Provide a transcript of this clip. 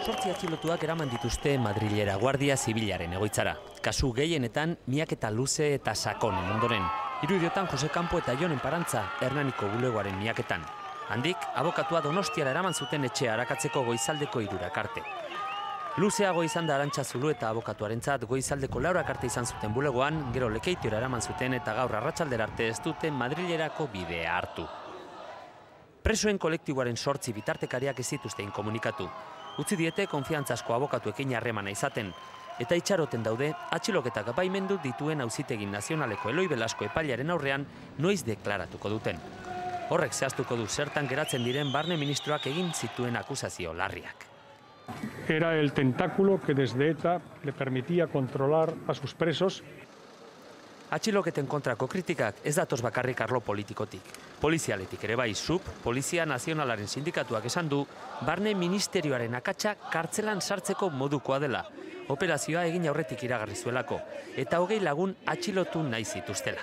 Zortzi atxilotuak eraman dituzte Madrilera Guardia Zibilaren egoitzara. Kasu gehienetan miaketa luze eta sakonen ondoren. Hiru idiotan Jose Campo eta Jonen Parantza Hernaniko bulegoaren miaketan. Handik, abokatua Donostiara eraman zuten etxea arakatzeko goizaldeko 3 arte. Luzeago izan da Arantxa Zulu eta abokatuarentzat goizaldeko 4 arte izan zuten bulegoan, gero Lekeitiora eraman zuten eta gaur arratsaldera arte ez dute Madrilerako bidea hartu. Presoen kolektiboaren 8 bitartekariak ez zituzten komunikatu. Utzi diete konfiantzazko abokatuekin harremana izaten, eta itxaroten daude atxiloketak baimendu dituen Auzitegi Nazionaleko Eloi Belasko epailearen aurrean noiz deklaratuko duten. Horrek zehaztuko du zertan geratzen diren barne ministroak egin zituen akusazio larriak. Era el tentáculo que desde ETA le permitía controlar a sus presos. Atxiloketen kontrako kritikak ez datoz bakarrik arlo politikotik. Polizialetik ere bai, SUB, Polizia Nazionalaren sindikatuak esan du, barne ministerioaren akatsa kartzelan sartzeko modukoa dela. Operazioa egin aurretik iragarri zuelako, eta 20 lagun atxilotu nahi zituztela.